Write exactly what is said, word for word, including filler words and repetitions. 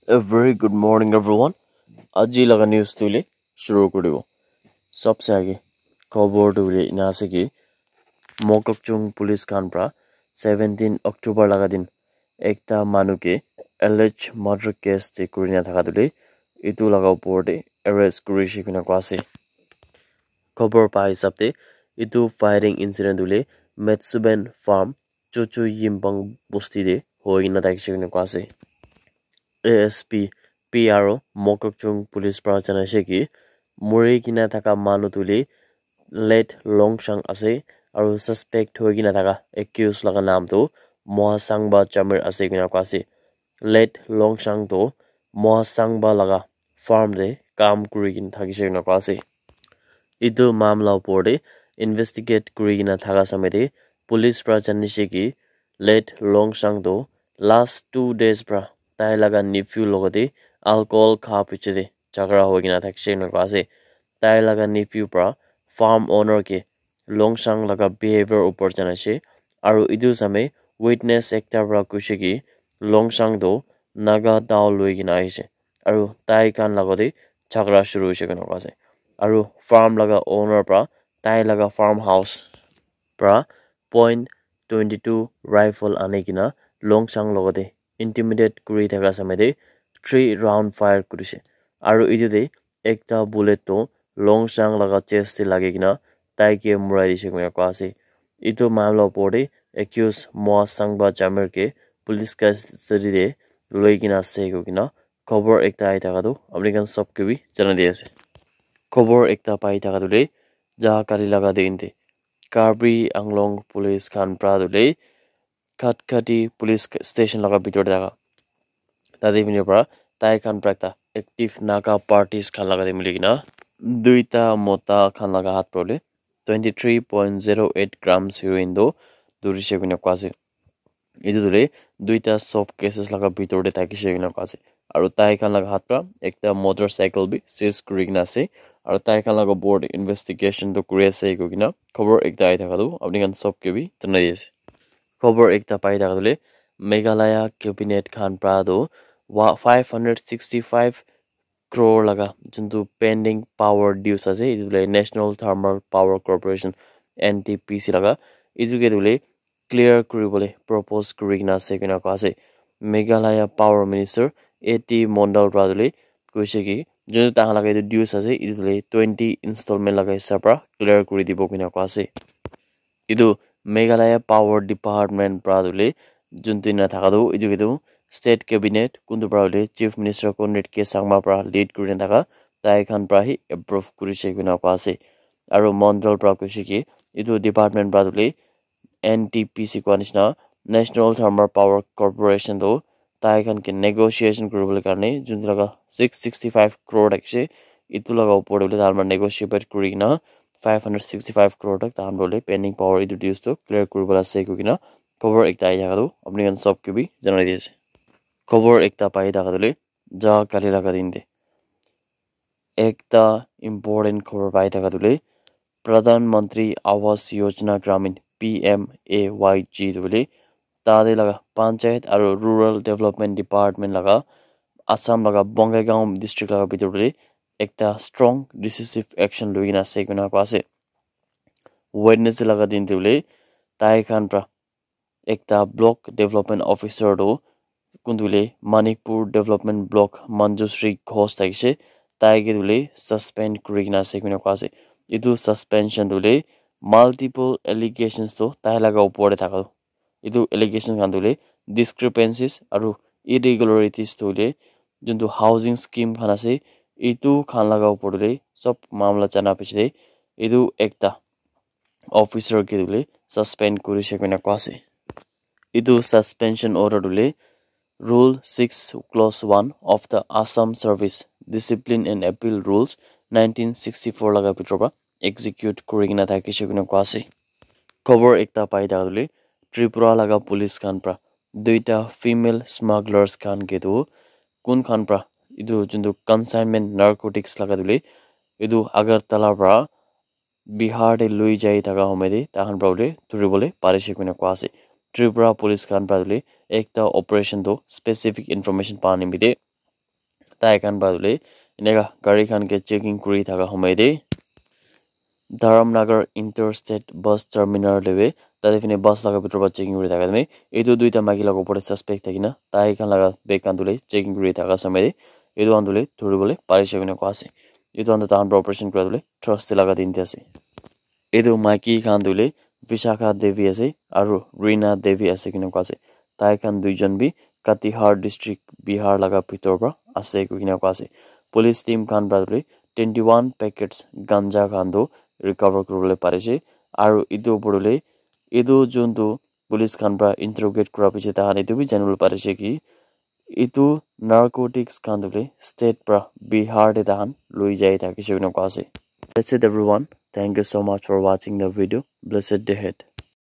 A very good morning, everyone. Aji laga news tu le shuru kuri dibo. Sabse aage khobor tu le ena ase ki Mokokchung police khan pra seventeen October laga din ekta manu ke alleged murder case te kuri na thaka tu le etu laga upor te arrest kuri she koina koa ase. Khobor pa hisab te etu firing incident tu le Metsuben farm Chuchu Yimbang bosti te hoi kena thakishe koina koa ase. A S P P R O Mokokchung police pra janaishe ki muri kena thaka manu tu le late Longshang ase aru suspect hoi kena thaka accused laga naam tu Mohasangba Jamir ase koina koa ase. Late Longshang tu Mohasangba laga farm te kam kuri kena thakishe koina koa ase. Etu mamla upor te investigate kuri kena thaka samay te police pra janaishe ki late Longshang tu last two days pra tai laga nephew logote alcohol kha piche te jhagara hoi kena thakishe koina koa ase. Tai laga nephew pra farm owner ke Longshang laga behavior upor janaishe aru etu samay witness ekta pra koishe ki Longshang tu Naga dao loi kena ahishe aru tai khan logote jhagara shuru hoishe koina koa ase aru farm laga owner pra tai laga farm house pra point twenty two rifle ani kena Longshang logote intimidate kuri thaka samay te three round fire kurishe aru etu te ekta bullet tu Longshang laga chest te lagi kena tai ke murai dishe koina koa ase. Etu mamla upor te accused Mohasangba Jamir ke police custody te loi kena ase koi kena khobor ekta ahi thaka tu apni khan sob ke bi janai di ase. Khobor ekta pai thaka tu le ja kali laga din te Karbi Anglong police khan pra tu le Khatkhati police station laga bitor te thaka tate bini pra tai khan pra ekta active Naga parties khan laga te mili kena duita mota khan laga hath pra le twenty three point zero eight grams heroin tu durishe koina koa ase. Etu tu le duita soap cases laga bitor te thakishe koina koa ase aru tai khan laga hath pra ekta motorcycle bi seize kuri kena ase aru tai khan laga upor te investigation tu kuri ase koi kena khobor ekta ahi thaka tu apni khan sob ke bi janai di ase. Khobor ekta pai thaka tu le Meghalaya cabinet khan pra tu five hundred sixty five crore laga juntu pending power dues ase etu le National Thermal Power Corporation N T P C laga etu ke tu le clear kuri bole propose kuri kena ase koina koa ase. Meghalaya Power Minister A T Mondal pra tu le koishe ki juntu tai khan laga etu dues ase etu tu le twenty installment laga hisab pra clear kuri dibo koina koa ase. Etu Meghalaya Power Department pra tu le juntu ena thaka tu etu ke tu state cabinet kuntu pra hoile Chief Minister Conrad K Sangma pra lead kuri na thaka tai khan pra hi approve kurishe koina koa ase. Aru Mondal pra koishe ki etu department pra tu le N T P C koa nishina National Thermal Power Corporation tu tai khan ke negotiation kuri bole karne juntu laga six sixty five crore thakishe etu laga upor te bole tai khan pra negotiate kuri kena five hundred sixty five crore tak tai khan bole pending power etu dues tu clear kuri bole ase koi kena khobor ekta ahi thaka tu apni khan sob ke bi janai di ase. Khobor ekta pai thaka tu le ja kali laga din te ekta important khobor pai thaka tu le Pradhan Mantri Awas Yojana Gramin P M A Y G tu le tate laga Panchayat aru Rural Development Department laga Assam laga Bongaigaon district laga bitor te ekta strong decisive action loi kena ase koina koa ase. Wednesday laga din te bole tai khan pra ekta block development officer tu kuntu le Manikpur development block Manjusri Ghosh thakishe tai ke tu le suspend kuri kena ase koina koa ase. Etu suspension tu le multiple allegations tu tai laga upor te thaka tu etu allegation khan tu le discrepancies aru irregularities tu le juntu housing scheme khan ase etu khan laga upor te sob mamla jana piche te etu ekta officer ke tu le suspend kurishe koina koa ase. Etu suspension order tu le Rule six Clause one of the Assam Service Discipline and Appeal Rules nineteen sixty four laga bitor pra execute kuri kena thakishe koina koa ase. Khobor ekta pai thaka tu le Tripura laga police khan pra duita female smugglers khan ke tu kun khan pra etu juntu consignment narcotics laga tu le etu Agartala pra Bihar te loi jai thaka home te tai khan pra bole thuri bole parishe koina koa ase. Tripura police khan pra bole ekta operation tu specific information pa nimite Tai khan para tu le eneka gari khan ke checking kuri thaka homoi te Dharamnagar Interstate Bus Terminal te bi tate fine bus laga bitor para checking kuri thaka time te etu duita maiki laga opor te suspect thaki na tai khan laga bag khan tu le checking kuri thaka samai te etu khan tu le thori bole parise koina koa ase. Etu khan tu tahan para operation kura tu le Thursday laga din te ase. Etu maiki khan tu le Vishakha Devi ase aru Rina Devi ase koina koa ase. Tai khan duijon bi Katihar district Bihar laga bitor para ase koina koa ase. Police team khan para tu le twenty one packets ganja khan tu recover kuri bole parise aru etu opor te etu jun tu police khan para interrogate kura piche tahan etu bi jani bole parise ki etu narcotics khan tu le state para Bihar te tahan loi jai thakise koina koa ase. That's it everyone. Thank you so much for watching the video. Blessed day ahead.